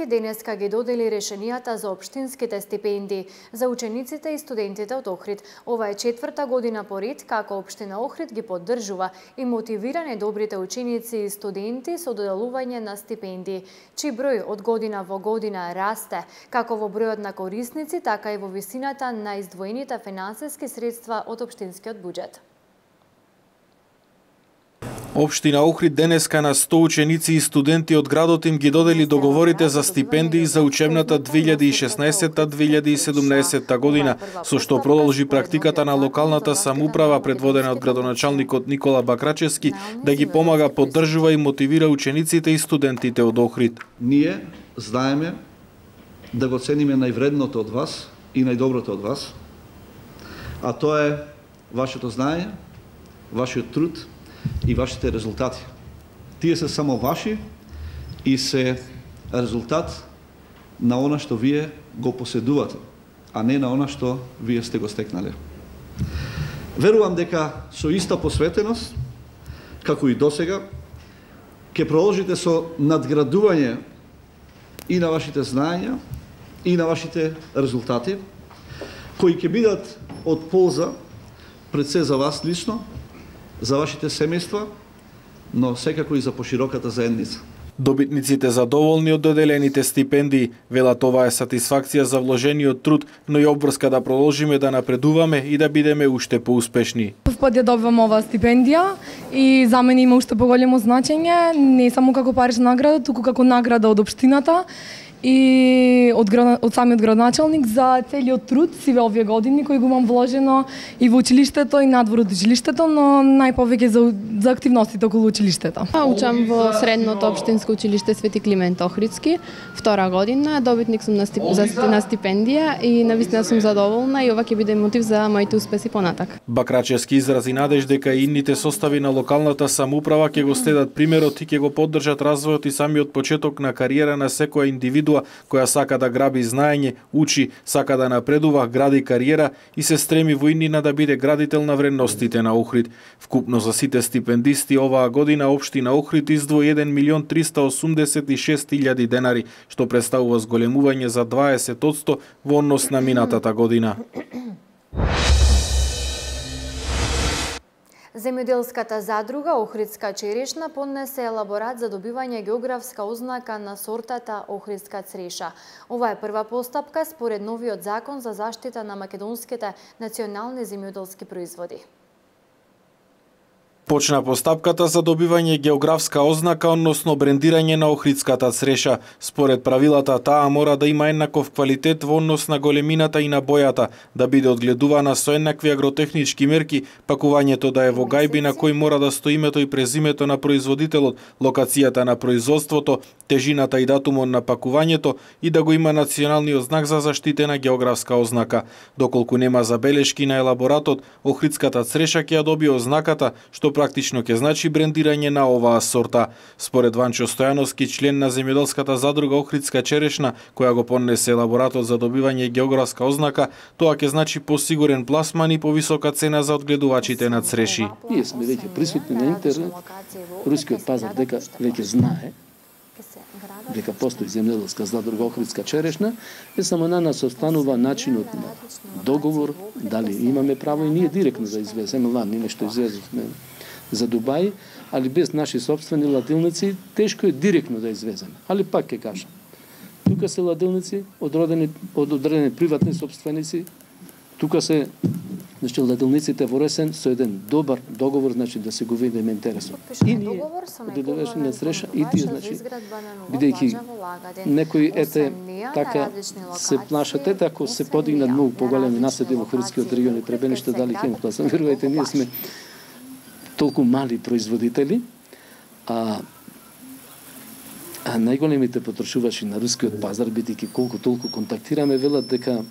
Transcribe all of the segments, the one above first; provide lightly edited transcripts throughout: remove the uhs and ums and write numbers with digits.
денеска ги додели решенијата за општинските стипендии за учениците и студентите од Охрид. Ова е четврта година поред како општина Охрид ги поддржува и мотивира најдобрите ученици и студенти со доделување на стипендии, чиј број од година во година расте, како во бројот на корисници, така и во висината на издвоените финансиски средства од општинскиот буџет. Општина Охрид денеска на 100 ученици и студенти од градот им ги додели договорите за стипендии за учебната 2016-2017 година, со што продолжи практиката на локалната самоуправа предводена од градоначалникот Никола Бакрачевски да ги помага, поддржува и мотивира учениците и студентите од Охрид. Ние знаеме да го цениме највредното од вас и најдоброто од вас, а тоа е вашето знаење, вашиот труд и вашите резултати. Тие се само ваши и се резултат на она што вие го поседувате, а не на она што вие сте го стекнале. Верувам дека со иста посветеност, како и досега, ќе продолжите со надградување и на вашите знаења и на вашите резултати, кои ќе бидат од полза пред се за вас лично, за вашите семејства, но секако и за пошироката заедница. Добитниците задоволни од доделените стипендии велат ова е сатисфакција за вложениот труд, но и обврска да продолжиме да напредуваме и да бидеме уште поуспешни. Прв пат ја добивам оваа стипендија и за мене има уште поголемо значење, не само како парична награда, туку како награда од општината и од самиот градоначалник за целиот труд сиве овие години кои го имам вложено и во училиштето и надвор од училиштето, но најповеќе за активностите околу училиштето. Учам во средното општинско училиште Свети Климент Охридски, втора година, добитник сум на стипендија и навистина сум задоволна и ова ќе биде мотив за моите успеси понатак. Бакрачевски изрази надеж дека и инните состави на локалната самоуправа ќе го следат примерот и ќе го поддржат развојот и самиот почеток на кариера на секоја индивидуа која сака да граби знаење, учи, сака да напредува, гради кариера и се стреми во иднина да биде градител на вредностите на Охрид. Вкупно за сите стипендисти оваа година општина Охрид издвои 1.386.000 денари, што представува зголемување за 20% во однос на минатата година. Земјоделската задруга Охридска черешна поднесе елаборат за добивање географска ознака на сортата Охридска цреша. Ова е прва постапка според новиот закон за заштита на македонските национални земјоделски производи. Почна постапката за добивање географска ознака, односно брендирање на Охридската цреша. Според правилата, таа мора да има еднаков квалитет во однос на големината и на бојата, да биде одгледувана со еднакви агротехнички мерки, пакувањето да е во гајби на кој мора да стои името и презимето на производителот, локацијата на производството, тежината и датумот на пакувањето и да го има националниот знак за заштитена географска ознака. Доколку нема забелешки на елаборатот, Охридската цреша ќе ја добие ознаката, што практично ќе значи брендирање на оваа сорта. Според Ванчо Стојановски, член на земјоделската задруга Охридска черешна, која го поднесе елаборатот за добивање географска ознака, тоа ќе значи посигурен пласман и повисока цена за одгледувачите на цреши. Ние сме веќе присутни на интернет, рускиот пазар дека веќе знае дека постои земјоделска задруга Охридска черешна, е само на нас останува начинот на договор, дали имаме право и ние директно да извеземе, ние нешто извезовме за Дубај, али без наши собствени ладилници тешко е директно да извеземе. Али пак ќе кажам, тука се ладилници од одредени приватни собственици, тука се ладилниците во Ресен со еден добар договор, значи да се го видиме интересот. И ние одгледувачи на цреша и тие, значи, бидејќи некои така се плашат, ако се подигнат многу поголеми наседи во Охридскиот регион и Требениште, дали ќе им пласам. Верувајте, ние сме толку мали производители, а најголемите потрошувачи на рускиот пазар, бидејќи колку толку контактираме, велат дека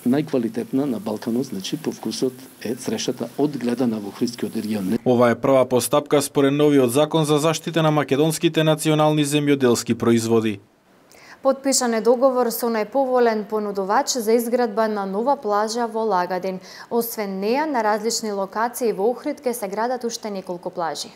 најквалитетна на Балканот, значи по вкусот е црешата одгледана во Охридскиот регион. Ова е прва постапка според новиот закон за заштита на македонските национални земјоделски производи. Потпишан е договор со најповолен понудувач за изградба на нова плажа во Лагадин. Освен неа, на различни локации во Охрид ќе се градат уште неколку плажи.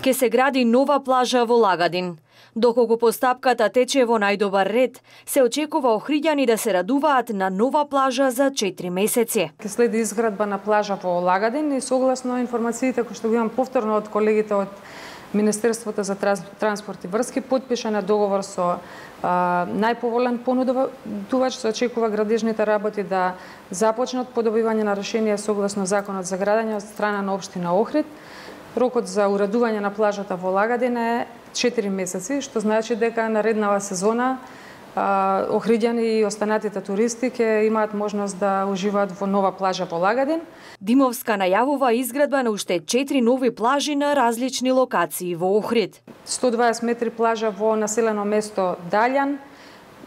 Ке се гради нова плажа во Лагадин. Доколку постапката тече во најдобар ред, се очекува охриѓани да се радуваат на нова плажа за 4 месеци. Ке следи изградба на плажа во Лагадин и согласно информациите кои што го имам повторно од колегите од Министерството за транспорт и врски, потпишан е договор со најповолен понудувач, се очекува градежните работи да започнат по добивање на решение согласно Законот за градење од страна на општина Охрид. Рокот за уредување на плажата во Лагадин е 4 месеци, што значи дека нареднава сезона охриѓани и останатите туристи ќе имаат можност да уживаат во нова плажа во Лагадин. Димовска најавува изградба на уште 4 нови плажи на различни локации во Охрид. 120 метри плажа во населено место Далјан,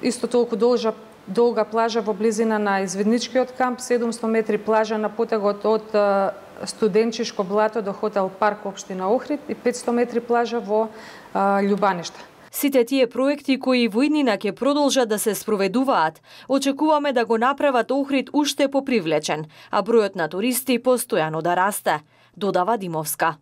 исто толку долга плажа во близина на извидничкиот камп, 700 метри плажа на потегот од Студенчишко блато до хотел Парк општина Охрид и 500 метри плажа во Љубаниште. Сите тие проекти кои во иднина ќе продолжат да се спроведуваат, очекуваме да го направат Охрид уште попривлечен, а бројот на туристи постојано да расте, додава Димовска.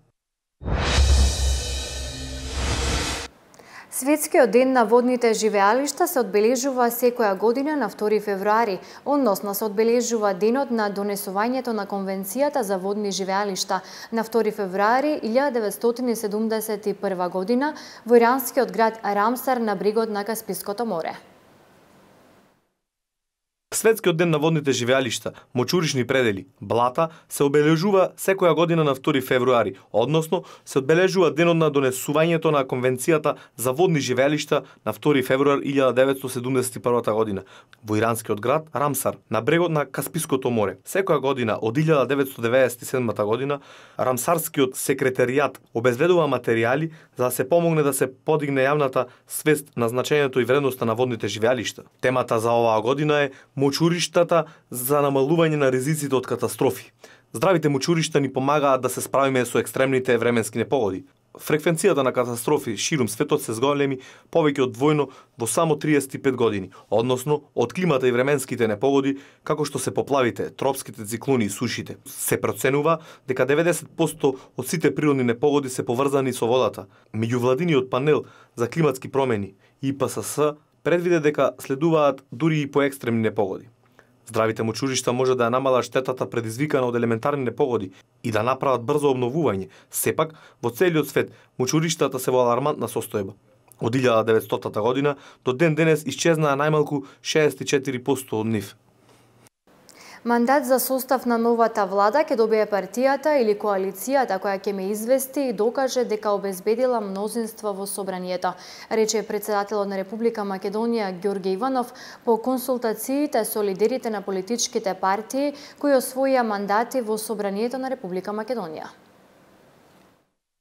Светскиот ден на водните живеалишта се одбележува секоја година на 2 февруари, односно се одбележува денот на донесувањето на Конвенцијата за водни живеалишта на 2 февруари 1971 година во иранскиот град Рамсар на брегот на Каспиското море. Светскиот ден на водните живеалишта, мочуришни предели, блата, се обележува секоја година на 2 февруари, односно се одбележува денот на донесувањето на Конвенцијата за водни живеалишта на 2 февруар 1971 година во иранскиот град Рамсар, на брегот на Каспиското море. Секоја година од 1997 година Рамсарскиот секретаријат обезбедува материјали за да се помогне да се подигне јавната свест на значењето и вредноста на водните живеалишта. Темата за оваа година е мочуриштата за намалување на ризиците од катастрофи. Здравите мочуришта ни помагаат да се справиме со екстремните временски непогоди. Фреквенцијата на катастрофи ширум светот се зголеми повеќе од двојно во само 35 години, односно од климата и временските непогоди, како што се поплавите, тропските циклони и сушите. Се проценува дека 90% од сите природни непогоди се поврзани со водата. Меѓувладиниот панел за климатски промени ИПСС предвиде дека следуваат дури и по екстремни непогоди. Здравите мочуришта може да ја намалат штетата предизвикана од елементарни непогоди и да направат брзо обновување. Сепак, во целиот свет, мочуриштата се во алармантна состојба. Од 1900 година до ден денес исчезнаа најмалку 64% од нив. Мандат за состав на новата влада ќе добие партијата или коалицијата која ќе ме извести и докаже дека обезбедила мнозинство во собранието, рече председателот на Република Македонија Ѓорѓе Иванов по консултациите со лидерите на политичките партии кои освоија мандати во собранието на Република Македонија.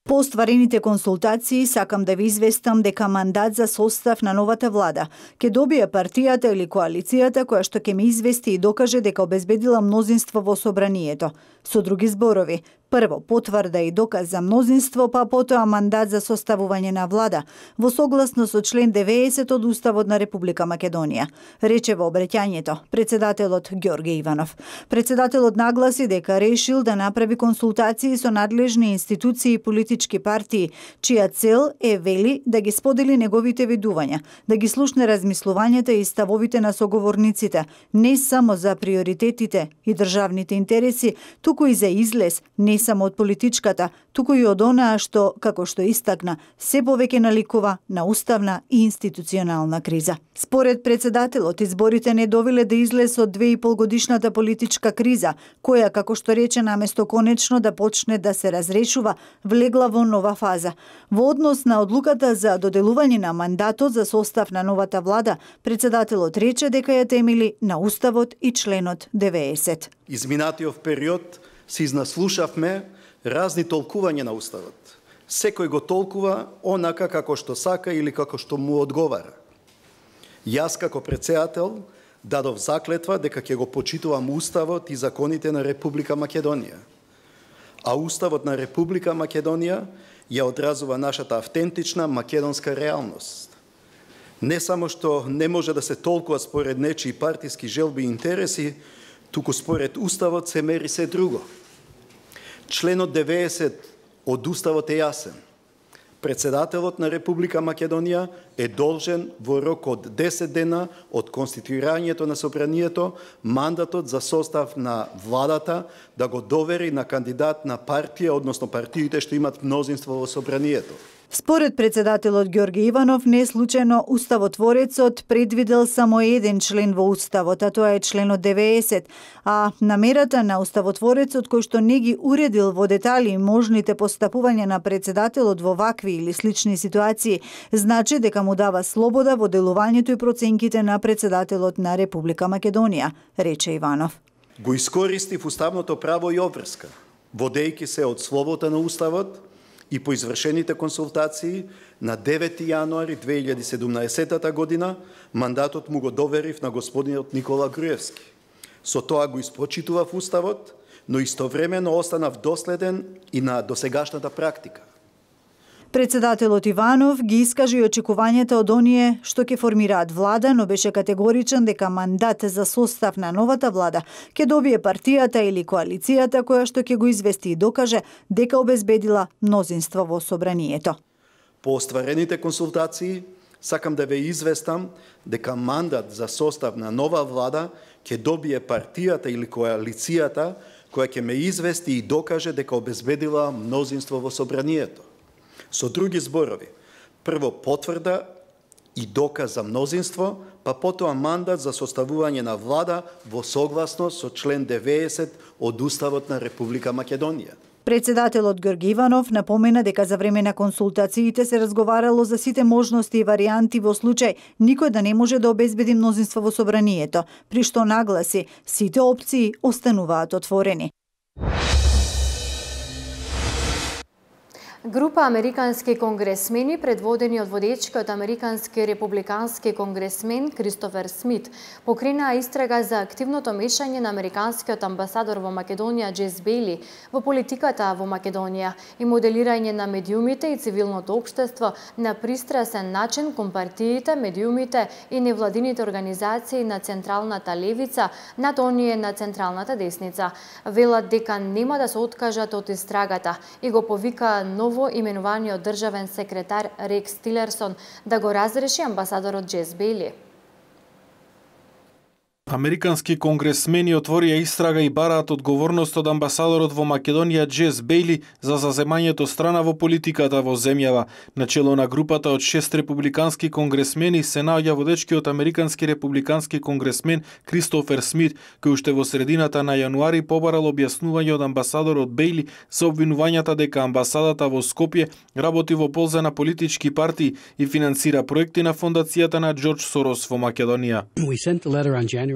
По остварените консултации сакам да ви известам дека мандат за состав на новата влада ќе добие партијата или коалицијата која што ќе ме извести и докаже дека обезбедила мнозинство во собранието. Со други зборови, прво потврда и доказ за мнозинство, па потоа мандат за составување на влада во согласно со член 90 од Уставот на Република Македонија, рече во обраќањето председателот Ѓорѓе Иванов. Председателот нагласи дека решил да направи консултации со надлежни институции и политички партии, чија цел е, вели, да ги сподели неговите видувања, да ги слушне размислувањата и ставовите на соговорниците, не само за приоритетите и државните интереси, туку и за излез, не само од политичката, туку и од онаа што, како што истакна, се повеќе наликува на уставна и институционална криза. Според председателот, изборите не довеле да излез од 2,5 годишната политичка криза, која, како што рече, наместо конечно да почне да се разрешува, влегла во нова фаза. Во однос на одлуката за доделување на мандатот за состав на новата влада, председателот рече дека ја темели на Уставот и членот 90. Изминатиот период се изнаслушавме разни толкувања на Уставот. Секој го толкува онака како што сака или како што му одговара. Јас како председател дадов заклетва дека ќе го почитувам Уставот и законите на Република Македонија. А Уставот на Република Македонија ја одразува нашата автентична македонска реалност. Не само што не може да се толкува според нечии партиски желби и интереси, туку според Уставот се мери се друго. Членот 90 од Уставот е јасен. Председателот на Република Македонија е должен во рок од 10 дена од конституирањето на собранието мандатот за состав на владата да го довери на кандидат на партија, односно партиите што имат мнозинство во собранието. Според председателот Ѓорги Иванов, не случајно уставотворецот предвидел само еден член во уставот, а тоа е членот 90, а намерата на уставотворецот кој што не ги уредил во детали можните постапувања на председателот во вакви или слични ситуации, значи дека му дава слобода во делувањето и проценките на председателот на Република Македонија, рече Иванов. Го искористив уставното право и обврска, водејќи се од словото на уставот и по извршените консултации на 9 јануари 2017 година мандатот му го доверив на господинот Никола Груевски. Со тоа го испочитував уставот, но истовремено останав доследен и на досегашната практика. Председателот Иванов ги искажи очекувањата од оние што ќе формираат влада, но беше категоричен дека мандат за состав на новата влада ќе добие партијата или коалицијата која што ќе го извести и докаже дека обезбедила мнозинство во собранието. По остварените консултации, сакам да ве известам дека мандат за состав на нова влада ќе добие партијата или коалицијата која ќе ме извести и докаже дека обезбедила мнозинство во собранието. Со други зборови, прво потврда и доказ за мнозинство, па потоа мандат за составување на влада во согласност со член 90 од Уставот на Република Македонија. Председателот Ѓорги Иванов напомена дека за време на консултациите се разговарало за сите можности и варијанти во случај никој да не може да обезбеди мнозинство во собранието, при што нагласи сите опции остануваат отворени. Група американски конгресмени, предводени од водечкиот американски републикански конгресмен Кристофер Смит, покренаа истрага за активното мешање на американскиот амбасадор во Македонија Джес Бејли во политиката во Македонија и моделирање на медиумите и цивилното општество на пристрасен начин кон партиите, медиумите и невладините организации на централната левица над оние на централната десница. Велат дека нема да се откажат од истрагата и го повика ново именуваниот државен секретар Рекс Тилерсон да го разреши амбасадорот Джес Бејли. Американски конгресмени отворија истрага и бараат одговорност од амбасадорот во Македонија Джес Бејли за заземањето страна во политиката во земјава. Начело на групата од 6 републикански конгресмени се наоѓа водечкиот американски републикански конгресмен Кристофер Смит, кој уште во средината на јануари побарал објаснување од амбасадорот Бејли за обвинувањата дека амбасадата во Скопје работи во полза на политички партии и финансира проекти на фондацијата на Џорџ Сорос во Македонија.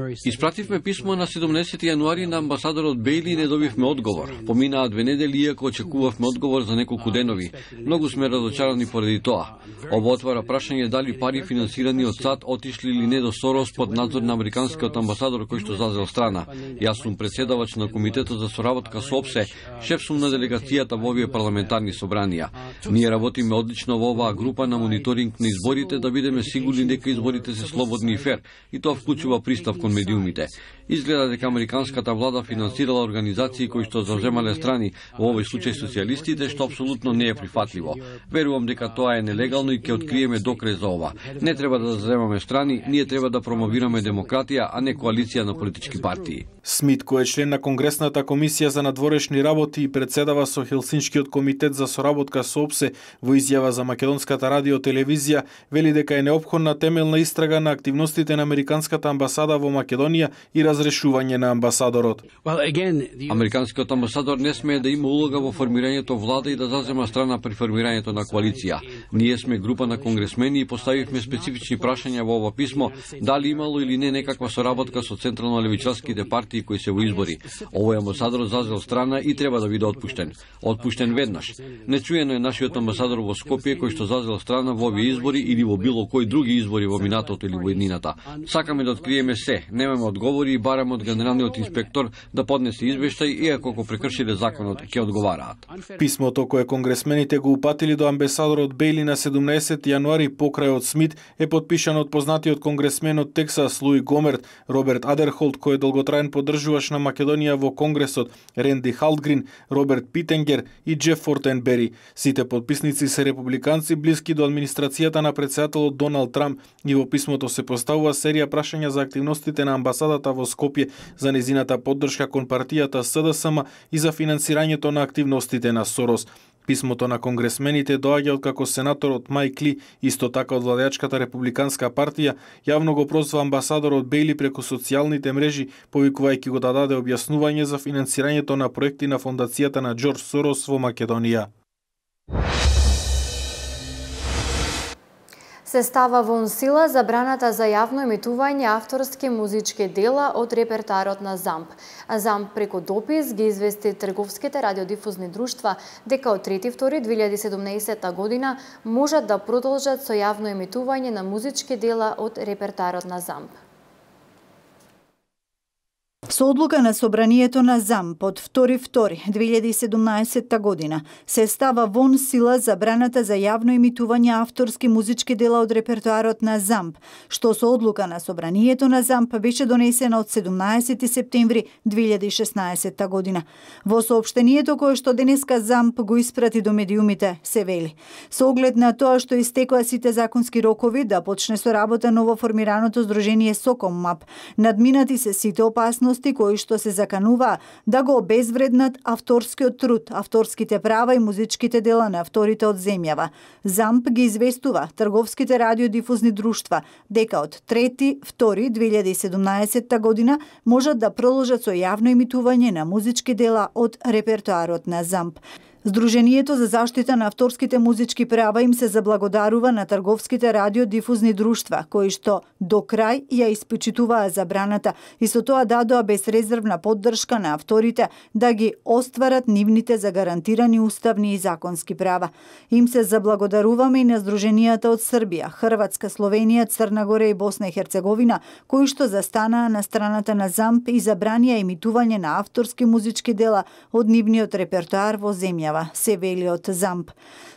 Испративме писмо на 17 јануари на амбасадорот Бејли и не добивме одговор. Поминаа 2 недели иако очекувавме одговор за неколку денови. Многу сме разочарани поради тоа. Ова отвара прашање дали пари финансирани од САД отишли или не до Сорос под надзор на американскиот амбасадор кој што зазел страна. Јас сум претседавач на Комитетот за соработка со ОПСЕ, шеф сум на делегацијата во овие парламентарни собранија. Ние работиме одлично во оваа група на мониторинг на изборите да бидеме сигурни дека изборите се слободни и фер, и тоа вклучува пристап кон медиумите. Изгледа дека американската влада финансирала организации кои што заземале страни, во овој случај социјалистите, што апсолутно не е прифатливо. Верувам дека тоа е нелегално и ќе откриеме докрез за ова. Не треба да заземаме страни, ние треба да промовираме демократија, а не коалиција на политички партии. Смит, кој е член на Конгресната комисија за надворешни работи и председава со Хелсиншкиот комитет за соработка со ОПСЕ, во изјава за Македонската радио-телевизија, вели дека е неопходна темелна истрага на активностите на американската амбасада во Македонија и разрешување на амбасадорот. Американскиот амбасадор не смее да има улога во формирањето влада и да зазема страна при формирањето на коалиција. Ние сме група на конгресмени и поставивме специфични прашања во ова писмо дали имало или не некаква соработка со централно левичарските партии кои се во избори. Овој амбасадор зазел страна и треба да биде отпуштен. Отпуштен веднаш. Нечуено е нашиот амбасадор во Скопје кој што зазел страна во овие избори или во било кои други избори во минатото или во еднината. Сакаме да откриеме се, Немаме одговори и бараме од генералниот инспектор да поднесе извештај, иако ако прекршиле законот ќе одговараат. Писмото кое конгресмените го упатили до амбасадорот Бейли на 17 јануари покрај од Смит е подпишано од познатиот конгресмен од Тексас Луи Гомерт, Роберт Адерхолд кој е долготраен поддржуваш на Македонија во Конгресот, Ренди Халдгрин, Роберт Питенгер и Джеф Фортенбери. Сите подписници се републиканци блиски до администрацијата на претседателот Доналд Трамп и во писмото се поставува серија прашања за активностите на амбасадата во Скопје, за незината поддршка кон партијата СДСМ и за финансирањето на активностите на Сорос. Писмото на конгресмените доаѓа откако сенаторот Майк Ли, исто така од владеачката републиканска партија, јавно го прозва амбасадорот Бейли преку социјалните мрежи, повикувајќи го да даде објаснување за финансирањето на проекти на фондацијата на Џорџ Сорос во Македонија. Се става вон сила забраната за јавно емитување авторски музички дела од репертоарот на ЗАМП. ЗАМП преку допис ги извести трговските радиодифузни друштва дека од 3.2.2017 година можат да продолжат со јавно емитување на музички дела од репертоарот на ЗАМП. Со одлука на собранието на ЗАМП од 2.2.2017 година се става вон сила забраната за јавно емитување авторски музички дела од репертоарот на ЗАМП, што со одлука на собранието на ЗАМП беше донесена од 17 септември 2016 година. Во соопштението кое што денеска ЗАМП го испрати до медиумите се вели: со оглед на тоа што истекоа сите законски рокови да почне со работа ново формираното здружение СОКОМ-МАП, надминати се сите опасности кои што се закануваа да го обезвреднат авторскиот труд, авторските права и музичките дела на авторите од земјава. ЗАМП ги известува трговските радиодифузни друштва дека од 3.2.2017 година можат да продолжат со јавно емитување на музички дела од репертоарот на ЗАМП. Сдруженијето за заштита на авторските музички права им се заблагодарува на трговските радиодифузни друштва, кои што до крај ја испочитуваа забраната и со тоа дадоа безрезервна поддршка на авторите да ги остварат нивните загарантирани уставни и законски права. Им се заблагодаруваме и на здруженијата од Србија, Хрватска, Словенија, Црна Гора и Босна и Херцеговина, кои што застанаа на страната на ЗАМП и забранија емитување на авторски музички дела од нивниот репертоар во земја, се вели од ЗАМП.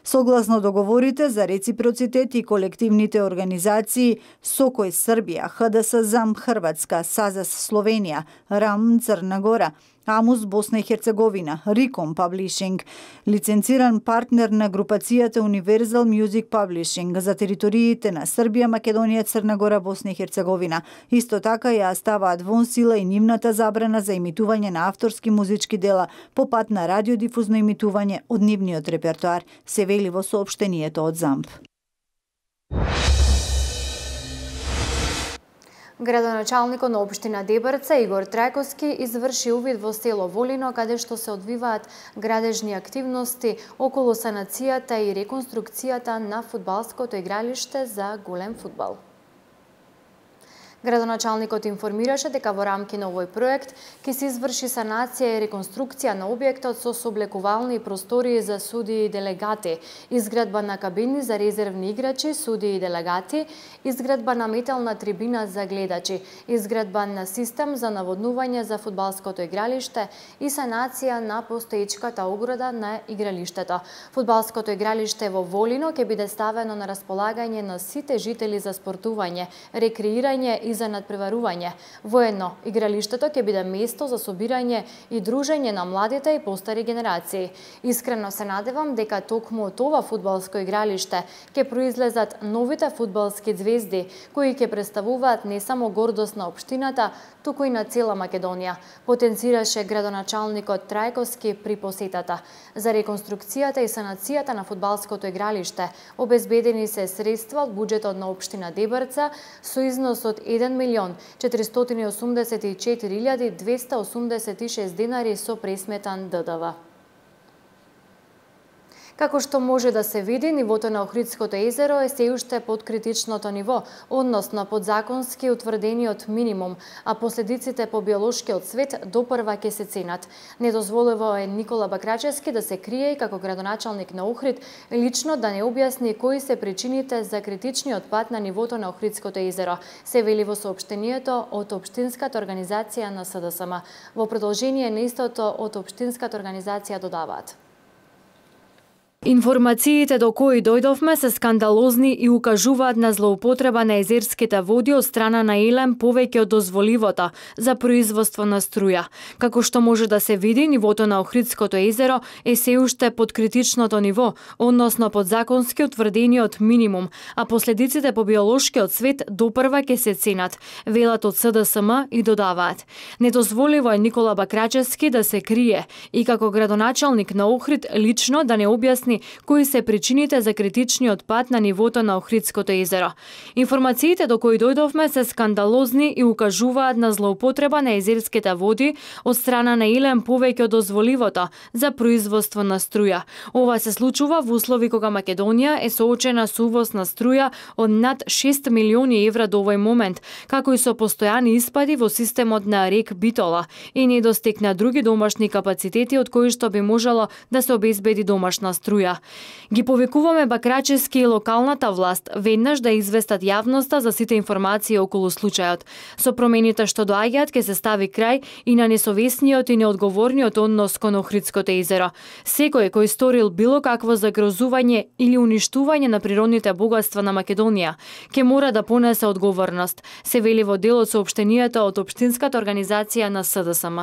Согласно договорите за реципроцитет и колективните организации СОКОј Србија, ХДС ЗАМП Хрватска, САЗАС Словенија, РАМ Црна Гора, АМУС Босна и Херцеговина, Риком Паблишинг, лиценциран партнер на групацијата Universal Music Publishing за териториите на Србија, Македонија, Црна Гора, Босна и Херцеговина. Исто така ја ставаат вон сила и нивната забрана за емитување на авторски музички дела по пат на радиодифузно емитување од нивниот репертоар, се вели во соопштението од ЗАМП. Градоначалникот на општина Дебрца Игор Трајковски изврши увид во село Волино, каде што се одвиваат градежни активности околу санацијата и реконструкцијата на фудбалското игралиште за голем фудбал. Градоначалникот информираше дека во рамки на овој проект ќе се изврши санација и реконструкција на објектот со соблекувални простории за судии и делегати, изградба на кабини за резервни играчи, судии и делегати, изградба на метална трибина за гледачи, изградба на систем за наводнување за фудбалското игралиште и санација на постоечката ограда на игралиштето. Фудбалското игралиште во Волино ќе биде ставено на располагање на сите жители за спортување, рекреирање и за надпреварување. Воедно, игралиштето ќе биде место за собирање и дружење на младите и постари генерации. Искрено се надевам дека токму од ова фудбалско игралиште ќе произлезат новите фудбалски звезди, кои ќе представуваат не само гордост на општината, туку и на цела Македонија, потенцираше градоначалникот Трајковски при посетата. За реконструкцијата и санацијата на фудбалското игралиште обезбедени се средства од буџетот на општина Дебрца со износ од 1.484.286 денари со пресметан ДДВ. Како што може да се види, нивото на Охридското езеро е се уште под критичното ниво, односно под законски утврдениот минимум, а последиците по биолошкиот свет допрва ќе се ценат. Недозволиво е Никола Бакрачевски да се крие и како градоначалник на Охрид лично да не објасни кои се причините за критичниот пат на нивото на Охридското езеро, се вели во соопштението од Општинската организација на СДСМ. Во продолжение на истото од Општинската организација додаваат: информациите до кои дојдовме се скандалозни и укажуваат на злоупотреба на езерските води од страна на ЕЛЕМ повеќе од дозволивото за производство на струја. Како што може да се види, нивото на Охридското езеро е се уште под критичното ниво, односно под законски утврдениот минимум, а последиците по биолошкиот свет допрва ќе се ценат, велат од СДСМ и додаваат: недозволиво е Никола Бакрачевски да се крие и како градоначалник на Охрид лично да не објасни кои се причините за критичниот пат на нивото на Охридското езеро. Информациите до кои дојдовме се скандалозни и укажуваат на злоупотреба на езерските води од страна на ЕЛЕМ повеќе од дозволивото за производство на струја. Ова се случува во услови кога Македонија е соочена со увоз на струја од над 6 милиони евра до овој момент, како и со постојани испади во системот на рек Битола и недостиг на други домашни капацитети од кои што би можело да се обезбеди домашна струја. Ги повикуваме Бакрачевски и локалната власт веднаш да известат јавноста за сите информации околу случајот. Со промените што доаѓаат ќе се стави крај и на несовесниот и неодговорниот однос кон Охридското езеро. Секој кој сторил било какво загрозување или уништување на природните богатства на Македонија ќе мора да понесе одговорност, се вели во дел од соопштението од Општинската организација на СДСМ.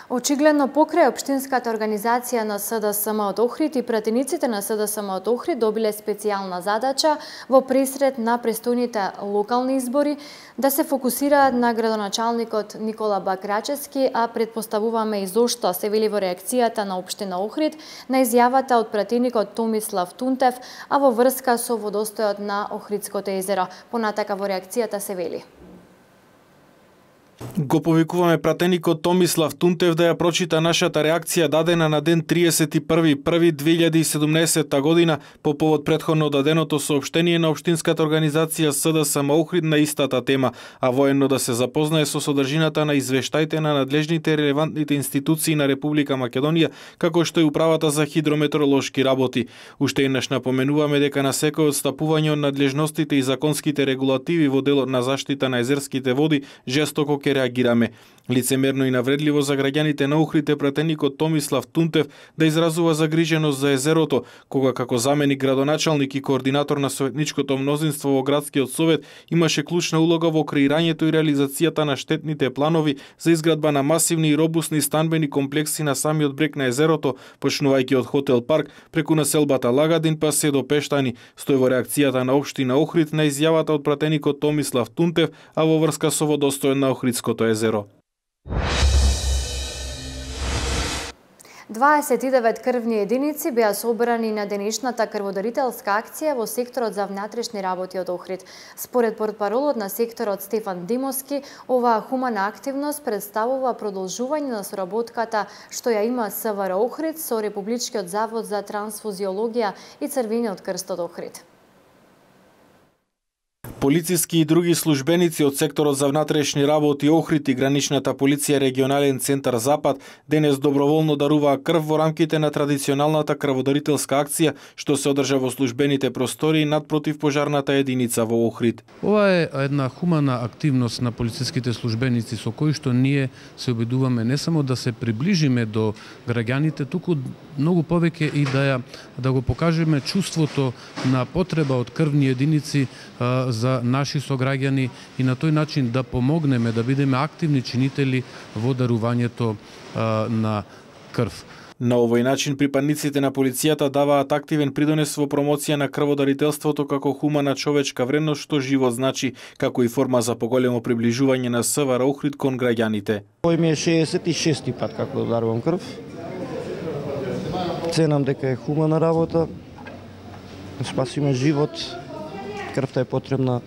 Очигледно покрај Општинската организација на СДСМ од Охрид и пратениците на СДСМ од Охрид добиле специјална задача во пресред на престојните локални избори да се фокусираат на градоначалникот Никола Бакрачевски, а предпоставуваме и зошто, се вели во реакцијата на Општина Охрид на изјавата од пратеникот Томислав Тунтев, а во врска со водостојот на Охридското езеро. Понатака во реакцијата се вели: го повикуваме пратеникот Томислав Тунтев да ја прочита нашата реакција дадена на ден 31.1.2017 година по повод претходно даденото соопштение на Општинската организација СДСМ Охрид на истата тема, а военно да се запознае со содржината на извештаите на надлежните и релевантните институции на Република Македонија, како што и Управата за хидрометеоролошки работи. Уште еднаш напоменуваме дека на секој отстапување од надлежностите и законските регулативи во делот на заштита на езерските води жестоко ќе реагираме. Лицемерно и навредливо за граѓаните на Охрид е пратеникот Томислав Тунтев да изразува загриженост за езерото, кога како заменик градоначалник и координатор на советничкото мнозинство во градскиот совет имаше клучна улога во креирањето и реализацијата на штетните планови за изградба на масивни и робусни станбени комплекси на самиот брег на езерото, почнувајќи од хотел Парк преку населбата Лагадин па се до Пештани, стои во реакцијата на Општина Охрид на изјавата од пратеникот Томислав Тунтев, а во врска со водостојот на Охридското езеро. 29 крвни единици беа собрани на денешната крводарителска акција во секторот за внатрешни работи од Охрид. Според портпаролот на секторот Стефан Димовски, оваа хумана активност представува продолжување на соработката што ја има СВР Охрид со Републичкиот завод за трансфузиологија и Црвениот крст од Охрид. Полициски и други службеници од секторот за внатрешни работи Охрид и граничната полиција регионален центар Запад денес доброволно даруваа крв во рамките на традиционалната крводарителска акција што се одржа во службените простории над противпожарната единица во Охрид. Ова е една хумана активност на полициските службеници со кои што ние се обидуваме не само да се приближиме до граѓаните, туку многу повеќе и да го покажеме чувството на потреба од крвни единици за наши сограѓани и на тој начин да помогнеме да бидеме активни чинители во дарувањето на крв. На овој начин припадниците на полицијата даваат активен придонес во промоција на крводарителството како хумана човечка вредност што живот значи, како и форма за поголемо приближување на СВР Охрид кон граѓаните. Овој ми е 66-ти пат како да дарувам крв. Ценам дека е хумана работа, спасиме живот, крвта е потребна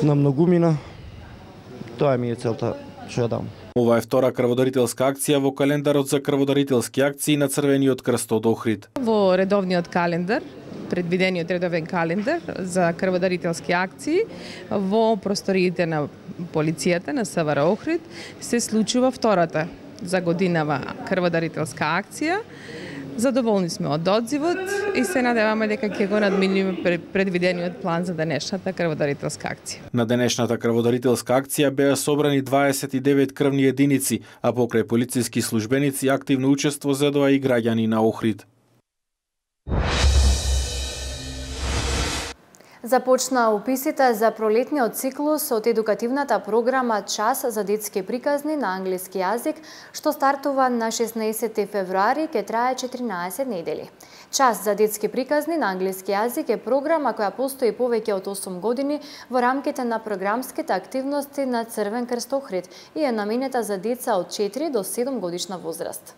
на многумина. Тоа ми е целта што ја дам. Ова е втора крводарителска акција во календарот за крводарителски акции на Црвениот крст од Охрид. Во редовниот календар, предвидениот редовен календар за крводарителски акции во просториите на полицијата на СВР Охрид се случува втората за годинава крводарителска акција. Задоволни сме од одзивот и се надеваме дека ќе го надминиме предвидениот план за денешната крводарителска акција. На денешната крводарителска акција беа собрани 29 крвни единици, а покрај полициски службеници активно учество зедоа и граѓани на Охрид. Започна уписите за пролетниот циклус од едукативната програма Час за детски приказни на англиски јазик, што стартува на 16 февруари, ке трае 14 недели. Час за детски приказни на англиски јазик е програма која постои повеќе од 8 години во рамките на програмските активности на Црвен крст Охрид и е наменета за деца од 4 до 7 годишна возраст.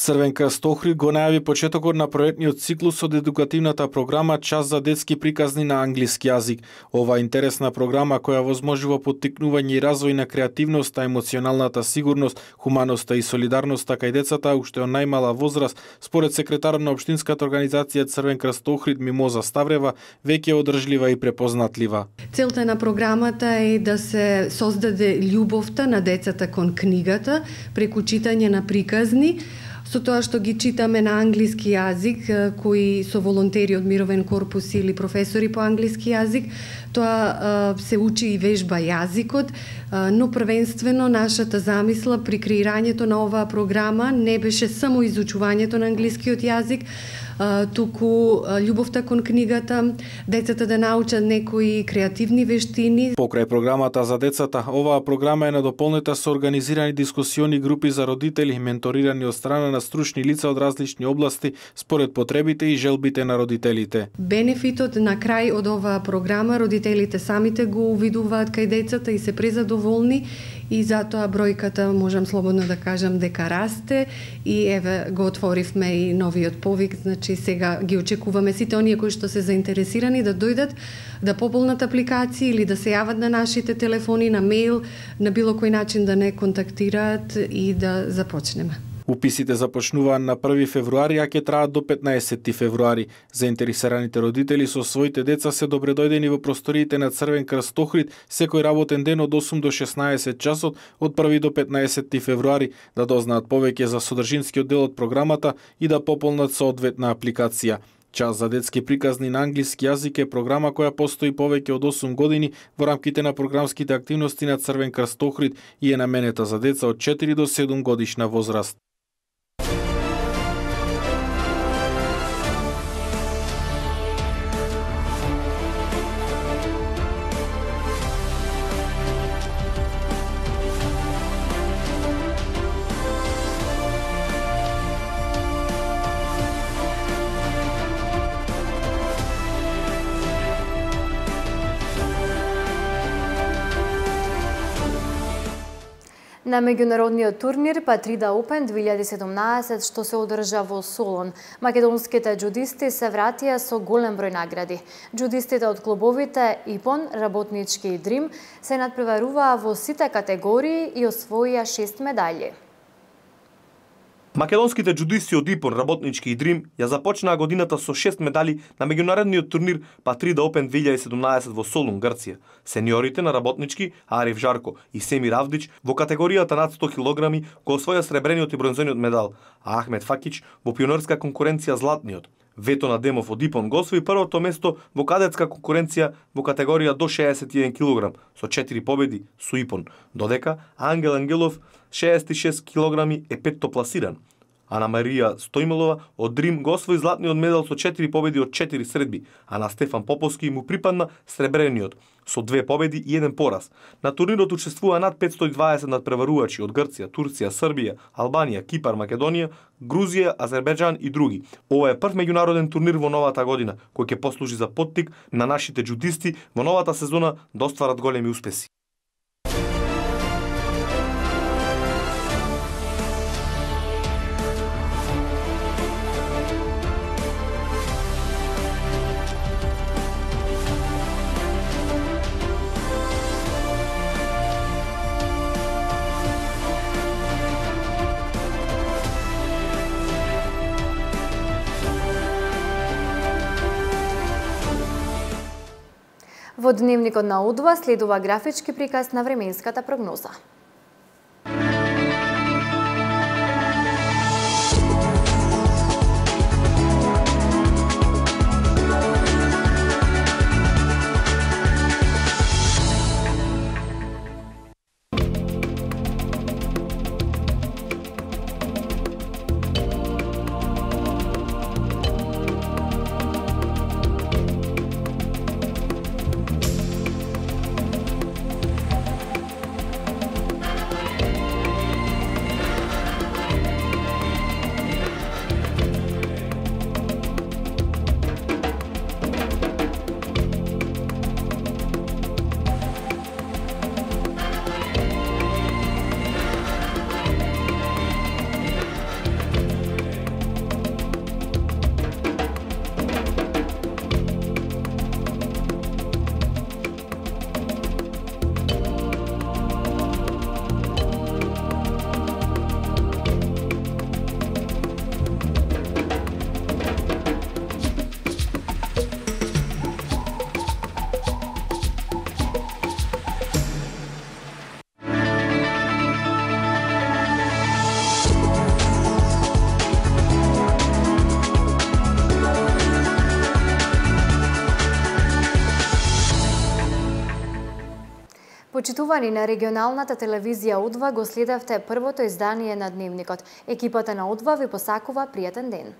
Црвен крст Охрид го најави почетокот на проектниот циклус од едукативната програма Час за детски приказни на англиски јазик. Ова интересна програма која возможува поттикнување и развој на креативноста, емоционалната сигурност, хуманоста и солидарноста кај децата уште од најмала возраст, според секретарот на општинската организација Црвен крст Охрид Мимоза Ставрева, веќе одржлива и препознатлива. Целта на програмата е да се создаде љубовта на децата кон книгата преку читање на приказни, со тоа што ги читаме на англиски јазик, кои со волонтери од Мировен корпус или професори по англиски јазик, тоа се учи и вежба јазикот, но првенствено нашата замисла при креирањето на оваа програма не беше само изучувањето на англискиот јазик, туку љубовта кон книгата, децата да научат некои креативни вештини. Покрај програмата за децата, оваа програма е надополнета со организирани дискусиони групи за родители, менторирани од страна на стручни лица од различни области според потребите и желбите на родителите. Бенефитот на крај од оваа програма родителите самите го увидуваат кај децата и се презадоволни и затоа бројката, можам слободно да кажам, дека расте и еве го отворивме и новиот повик, значи сега ги очекуваме сите оние кои што се заинтересирани да дојдат, да пополнат апликации или да се јават на нашите телефони, на мејл, на било кој начин да не контактираат и да започнеме. Уписите започнуваат на 1 февруари, а ќе траат до 15 февруари. Заинтересираните родители со своите деца се добредојдени во просториите на Црвен крст Охрид секој работен ден од 8 до 16 часот од 1 до 15 февруари да дознаат повеќе за содржинскиот дел од програмата и да пополнат соодветна апликација. Час за детски приказни на англиски јазик е програма која постои повеќе од 8 години во рамките на програмските активности на Црвен крст Охрид и е наменета за деца од 4 до 7 годишна возраст. На меѓународниот турнир Патрида Опен 2017 што се одржа во Солон, македонските џудисти се вратија со голем број награди. Џудистите од клубовите Ипон, Работнички и Дрим се надпреваруваа во сите категории и освоија 6 медаљи. Македонските џудисти од Ипон, Работнички и Дрим ја започнаа годината со 6 медали на меѓународниот турнир Патрида Опен 2017 во Солун, Грција. Сениорите на Работнички, Ариф Жарко и Семир Авдич во категоријата над 100 килограми го освоја сребрениот и бронзениот медал, а Ахмед Факич во пионерска конкуренција златниот. Ветон Адемов од Ипон го освои првото место во кадетска конкуренција во категорија до 61 килограм со 4 победи со Ипон, додека Ангел Ангелов 66 килограми е петто пласиран. Ана Марија Стојмелова од Дрим го освои златниот медал со 4 победи од 4 средби, а на Стефан Поповски му припадна сребрениот со 2 победи и 1 пораз. На турнирот учествува над 520 надпреварувачи од Грција, Турција, Србија, Албанија, Кипар, Македонија, Грузија, Азербејџан и други. Ова е прв меѓународен турнир во новата година, кој ќе послужи за поттик на нашите џудисти во новата сезона да остварат големи успеси. Во дневникот на Удва следува графички приказ на временската прогноза. Почитувани на регионалната телевизија Удва го следевте првото издание на Дневникот. Екипата на Удва ви посакува пријатен ден.